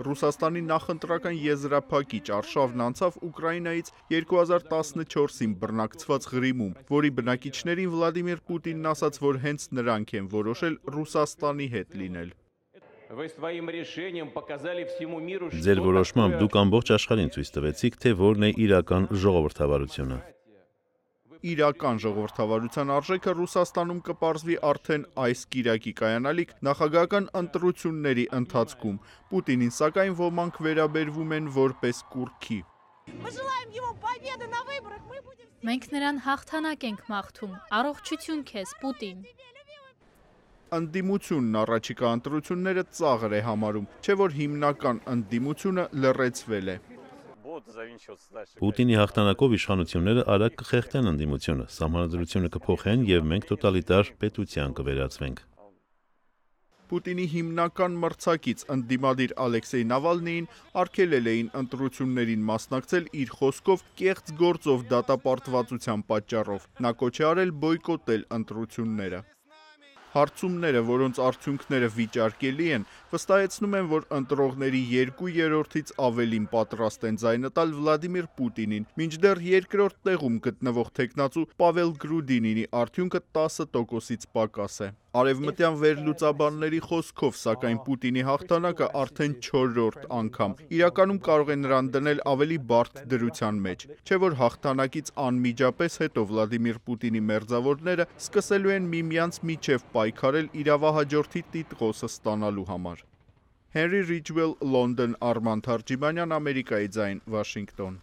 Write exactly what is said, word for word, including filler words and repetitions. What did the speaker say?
Ռուսաստանի նախընտրական եզրափակիչ արշավն անցավ Ուկրաինայից երկու հազար տասնչորսին բռնակցված Ղրիմում, որի բնակիչներին Վլադիմիր Պուտինն ասաց, որ հենց նրանք են որոշել Ռուսաստանի հետ լինել։ Ձեր որոշմամբ դուք ամբողջ աշխարհին ցույց տվեցիք, թե որն է իրական ժողովրդավարությունը։ Իրական ժողովրդավարության արժեքը Ռուսաստանում կպարզվի արդեն այս կիրակի կայանալիք նախագահական ընտրությունների ընթացքում։ Պուտինին սակայն ոմանք վերաբերվում են որպես կուռքի։ Մենք նրան հաղթանակ ենք մաղթում։ Առողջություն քեզ, Պուտին։ Ընդդիմությունն առաջիկա ընտրությունները ծաղր է համարում, չէ որ հիմնական ընդդիմությունը լռեցվել է։ Պուտինի հաղթանակով իշխանությունները արագ կխեղդեն ընդդիմությունը, սահմանադրությունը կփոխեն եւ մենք տոտալիտար պետության կվերածվենք։ Պուտինի հիմնական մրցակից ընդդիմադիր Ալեքսեյ Նավալնիին արգելել էին ընտրություններին մասնակցել իր խոսքով կեղծ գործով դատապարտվածության պատճառով։ Նա կոչ է արել բոյկոտել ընտրությունները։ Հարցումները, որոնց արդյունքները վիճարկելի են, վստահեցնում են, որ ընտրողների երկու երրորդից ավելին պատրաստ են ձայնը տալ Վլադիմիր Պուտինին, մինչդեռ երկրորդ տեղում գտնվող թեկնածու Պավել Գրուդինինի արդյունքը տասը տոկոսից պակաս է։ Արևմտյան վերլուծաբանների խոսքով, սակայն Պուտինի հաղթանակը արդեն չորրորդ անգամ իրականում կարող է նրան դնել ավելի բարդ դրության մեջ, չէ որ հաղթանակից անմիջապես հետո Վլադիմիր Պուտինի մերձավորները սկսելու են միմյանց միջև պայքարել իրավահաջորդի տիտղոսը ստանալու համար։ Հենրի Ռիջվել, Լոնդոն, Արման Թարջիմանյան, Ամերիկայի ձայն, Վաշինգտոն։